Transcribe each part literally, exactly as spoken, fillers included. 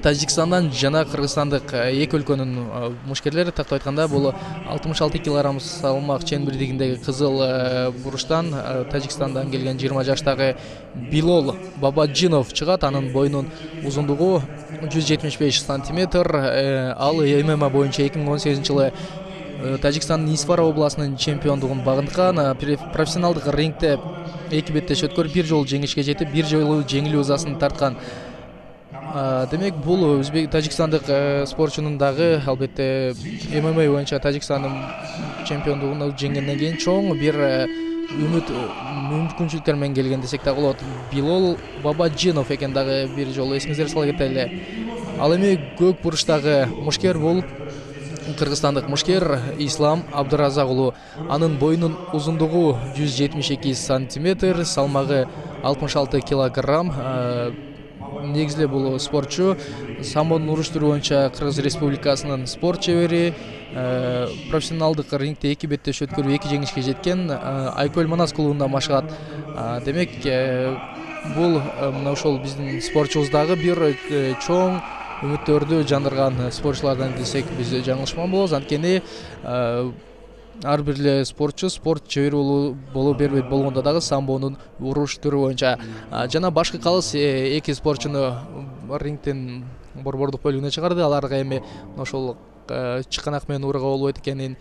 Тажикстандан жана Кыргызстандык эки өлкөнүн мушкерлери тактап айтканда бул алтымыш алты килограмм салмак чен-бирдигиндеги кызыл буруштан Тажикстандан келген жыйырма жаштагы Билол Бабаджинов чыгат. Анын боюнун узундугу жүз жетимиш беш сантиметр. Ал ММА боюнча эки миң он сегизинчи жылы Тажикстандын Исфара областынын чемпиондугун багынткан. Профессионалдык рингте эки беттеш өткөрүп бир жолу жеңишке жетип, бир жолу жеңилүү ызасын тарткан. Демек бул өзбек тажикстандык спортчунун дагы албетте ММА боюнча Тажикстандын чемпиондугун жеңгенден кийин чоң бир үмүт мүмкүнчүлүктөр менен келген десек да болот. Билол Бабаджинов экен дагы бир жолу эсиңиздерге сала кетели. Ал эми көк буручтагы мушкер бул кыргызстандык мушкер Ислам Абдыразак уулу. Анын боюнун узундугу жүз жетимиш эки сантиметр, салмагы алтымыш алты килограмм. Негизинен бул спортчу самбону уруштуруу боюнча Кыргыз Республикасынын спорт чебери. Профессионалдык рингте эки беттеш өткөрүп эки жеңишке жеткен. Айкөл Манас клубунда машыгат. Демек бул мына ошол биздин спортчубуздагы бир чоң үмүттөрдү жандырган спортчулардан десек биз жаңылышпаган болобуз. Анткени ар бир эле спортчу спорт чебери боло бербейт болгондо дагы самбонун уруш түрү боюнча жана башкы калыс эки спортчуну рингтен борбордук бөлүгүнө чыгарды. Аларга эми ошол чыканак менен урууга болбойт экенин,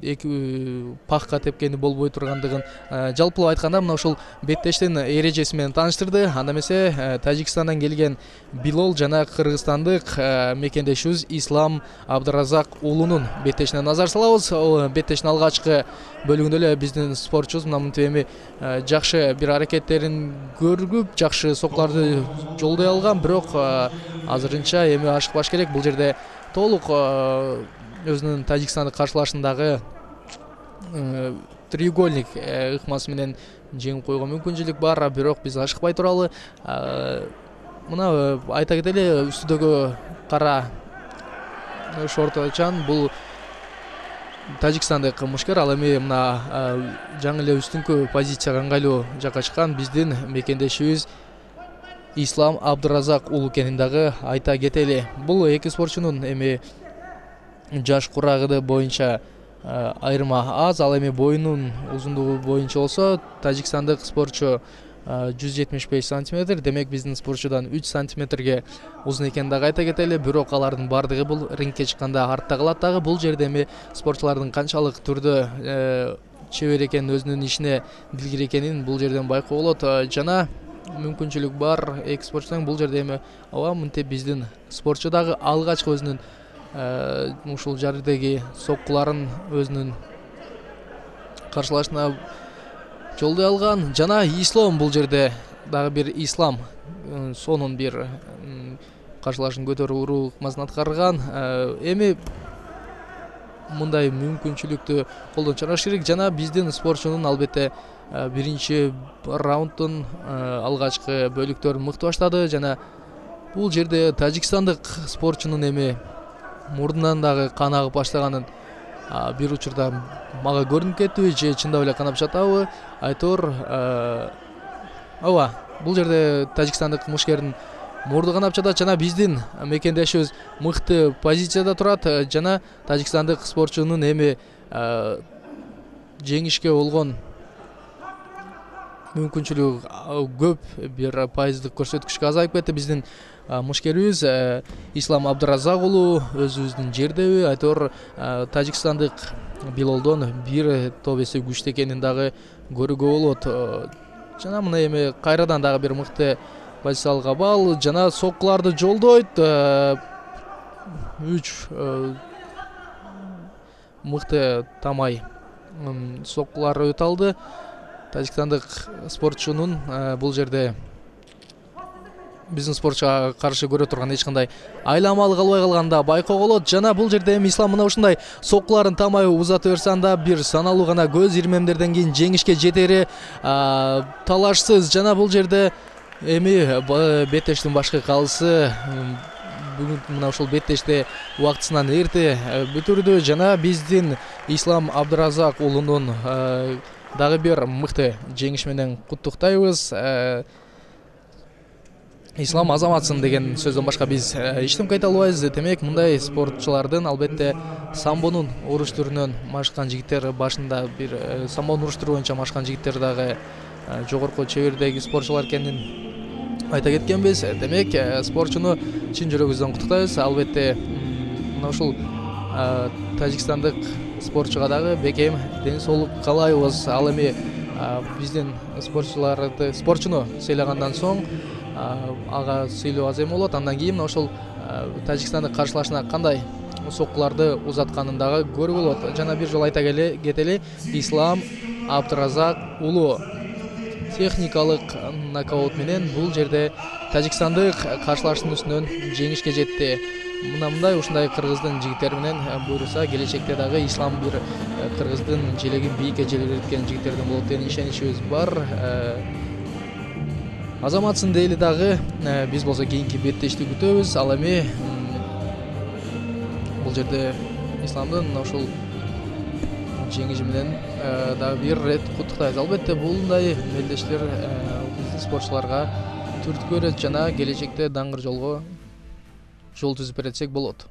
эки пахка тепкени болбой тургандыгын жалпылап айтканда мына ошол беттештин эрежеси менен тааныштырды. Анда эмесе Тажикстандан келген Билол жана кыргызстандык мекендешибиз Ислам Абдыразак уулунун беттешине назар салабыз. Беттештин алгачкы бөлүгүндө эле биздин спортчубуз мына мынтип эми жакшы бир аракеттерин көрүп, жакшы соккуларды жолдой алган. Бирок азырынча эми ашыкпаш керек. Бул жерде толук өзүнүн Тажикстандык каршылашындагы треугольник ыкмасы менен жеңип койгон мүмкүнчүлүк бар. Бирок биз ашыкпай туралы. Мына айта кетели, үстүдөгү кара шорточан бул Тажикстандык мушкер. Ал эми мына жаңы эле үстүңкү позицияга ыңгайлуу жакка чыккан биздин мекендешибиз Ислам Абдыразак уулу экенин дагы айта кетели. Бул эки спортчунун эми жаш курагыды боюнча айырма аз. Ал эми боюнун узундугу боюнча болсо тажикстандык спортчу жүз жетимиш беш сантиметр. Демек биздин спортчудан үч сантиметрге узун экенин дагы айта кетели. Бирок алардын бардыгы бул рингке чыкканда артта калат дагы. Бул жерде эми спортчулардын канчалык түрдө чебер экенин, өзүнүн ишине билгир экенин бул жерден байкоо болот. Жана мүмкүнчүлүк бар эки спортчунун бул жерде эми ооба мынтип биздин спортчу дагы алгачкы өзүнүн ушул жердеги соккуларын өзүнүн каршылашына жолдой алган. Жана Ислам бул жерде дагы бир Ислам сонун бир каршылашын көтөрүү уруу ыкмасын аткарган. Эми мындай мүмкүнчүлүктү колдон чыгарыш керек. Жана биздин спортчунун албетте биринчи раундтун алгачкы бөлүктөрүн мыкты баштады. Жана бул жерде тажикстандык спортчунун эми мурдунан дагы кан агып баштаганын бир учурда мага көрүнүп кетти, же чындап эле канап жатабы айтор. Ооба, бул жерде тажикстандык мушкердин мурду канап жатат. Жана биздин мекендешибиз мыкты позицияда турат. Жана тажикстандык спортчунун эми жеңишке болгон мүмкүнчүлүгү көп, бир пайыздык көрсөткүчкө азайып кетти. Биздин мушкерибиз Ислам Абдыразак уулу өзүбүздүн жердеби айтор тажикстандык Билолдон бир топ эсе күчтүү экенин дагы көрүүгө болот. Жана мына эми кайрадан дагы бир мыкты позициялык абал жана соккуларды жолдойт. Үч мыкты тамай соккулар өтө алды. Тажикстандык спортчунун бул жерде биздин спортчуга каршы көрө турган эч кандай айламалык албай калганда байкоо болот. Жана бул жерде эми Ислам мына ушундай соккуларын тамай узата берсе, анда бир саналуу гана көз ирмемдерден кийин жеңишке жетери талашсыз. Жана бул жерде эми беттештин башкы калысы бүгүн мына ушул беттеште убактысынан эрте бүтүрдү. Жана биздин Ислам Абдыразак уулунун дагы бир мыкты жеңиш менен куттуктайбыз. ислам азаматсың деген сөздөн башка биз эчтеме айта албайбыз. Демек мындай спортчулардын албетте самбонун уруш түрүнөн машыккан жигиттер, башында бир самбонун уруш түрү боюнча машыккан жигиттер дагы жогорку чебердеги спортчулар экенин айта кеткенбиз. Демек спортчуну чын жүрөгүбүздөн куттуктайбыз. Албетте мына ушул тажикстандык спортчуга дагы бекем ден соолук каалайбыз. Ал эми биздин спортчуларды спортчуну сыйлагандан соң ага сыйлоо аз эме болот. Андан кийин ошол Тажикстандык каршылашына кандай соккуларды узатканын дагы көрүүгө болот. Жана бир жолу айта кетели, Ислам Абдыразак уулу техникалык нокаут менен бул жерде Тажикстандык каршылашчынын үстүнөн жеңишке жетти. Мына мындай ушундай кыргыздын жигиттери менен буйруса, келечекте дагы Ислам бир кыргыздын желегин бийикке желбиреткен жигиттерден болот деген ишеничибиз бар. Азаматсың дейли дагы биз болсо кийинки беттештикти күтөбүз. Ал эми бул жерде Исламдын ушул жеңиши менен дагы бир рет куттуктайбыз. Албетте булундай мелдештер биздин спортчуларга түрткү берет жана келечекте даңгыр жолго жол түзүп беретсек болот.